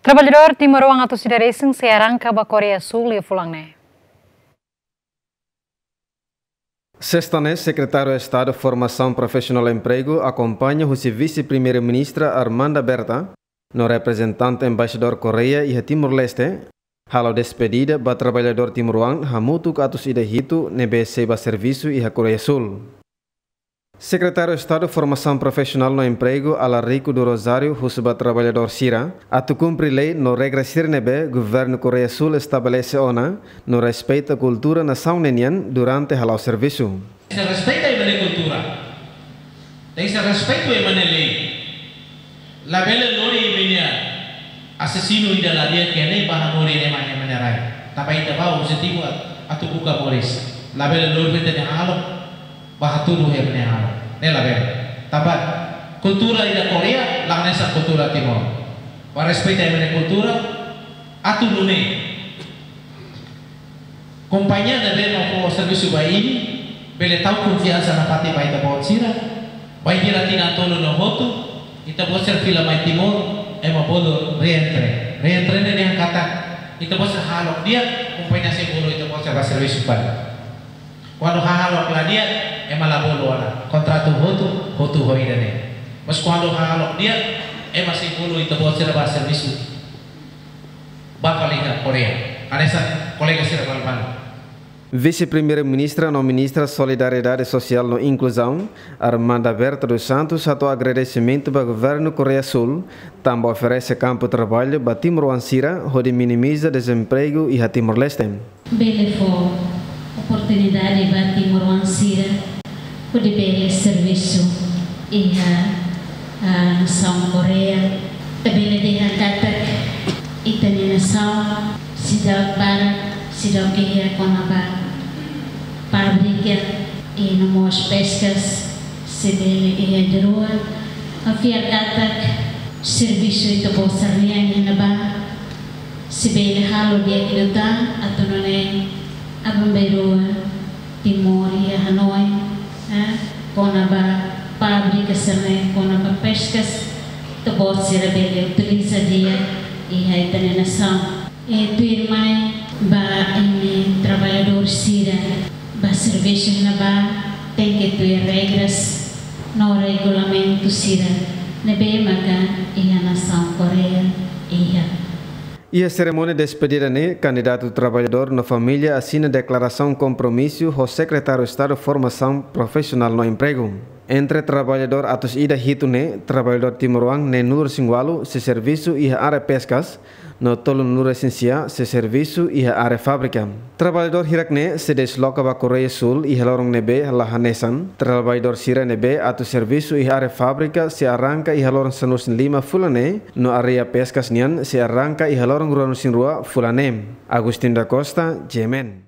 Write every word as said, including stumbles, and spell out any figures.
Traballadór timoroan atus ida resin sei arranka ba Koreia Súl iha fulan ne'e. Sesta ne'e, Sekretáriu Estadu Formasaun Profisionál no Empregu akompaña husi Vise-Primeiru-Ministra Armanda Berta no reprezentante Embaixadór Koreia iha Timor-Leste, halo despedida ba traballadór timoroan hamutuk atus ida hitu ne'ebé sei bá servisu iha Koreia Súl. Sekretáriu Estadu Formasaun Profisionál no Empregu, Alarico do Rosário, husu ba traballadór sira atu kumpre lei no regra sira ne'ebé Governu Koreia Súl estabelese ona, no respeita kultura nasaun ne'e nian durante hala'o servisu. Sei respeita ema nia kultura. Tenke ser respeitu ema nia lei. Labele lori ema nia asesinu ida la di'ak iha ne'e bá hanorin ema nia rai. Tanba ita bá objetivu atu buka moris. Labele lori ita-nia hahalok bá hatudu ema nia hahalok. Ne'e labele. Tanba kultura ida Koreia la hanesan kultura Timor. Bá respeita ema nia kultura, atu nune'e kompañia ne'ebé mak fó servisu ba imi bele tau konfiansa nafatin ba ita-boot sira. Bainhira tinan tolu no hotu, ita-boot sira fila mai Timor, ema bolu reentre. Reentre ne'e dehan katak ita-boot sira hahalok di'ak, kompañia sei bolu ita-boot sira bá servisu fali. Kuandu hahalok la di'ak, ema la bolu ona. Kontratu hotu, hotu ho ida-ne'e. Mas kuandu hahalok di'ak, ema sei bolu ita-boot sira bá servisu ba fali iha Koreia. Hanesan kolega sira balu-balu. Vise-Primeiru-Ministra no Ministra Solidariedade Sosiál no Inkluzaun, Armanda Berta dos Santos, hato'o agradesimentu ba Governu Koreia Súl, tanba oferese kampu traballu ba timoroan sira, hodi minimiza dezempregu iha Timor-Leste. Bele fó oportunidade ba timoroan sira hodi bele servisu iha, ah, nasaun Koreia. Ita bele dehan katak ita-nia nasaun seidauk barak, seidauk iha kona-ba fábrika, i no mós peskas, sei bele iha ida-rua. Ha'u fiar katak servisu ita-boot sira-nian iha ne'ebá sei bele halo di'ak liután atu nune'e aban-bainrua Timor iha hanoin, eh, kona-ba fábrika sira-ne'e, kona-ba peskas, ita-boot sira bele utiliza di'ak iha ita-nia nasaun. I tuirmai ba imi traballadór sira bá servisu iha ne'ebá tenke tuir regras no regulamentu sira ne'ebé maka iha nasaun Koreia iha. Iha serimónia despedida ne'e, kandidatu traballadór no família asina deklarasaun kompromisu ho Sekretáriu Estadu Formasaun Profisionál no Empregu. Entre traballadór atus ida hitu ne'e, traballadór timoroan neenulu-resin-ualu sei servisu iha área peskas, no tolunulu-resin-sia sei servisu iha área fábrika. Traballadór hirak ne'e sei desloka ba Koreia Súl iha loron ne'ebé la hanesan. Traballadór sira ne'ebé atu servisu iha área fábrika sei arranka iha loron sanulu-resin-lima fulan ne'e, no área peskas nian sei arranka iha loron ruanulu-resin-rua fulan ne'e. Agustin da Costa, G M N.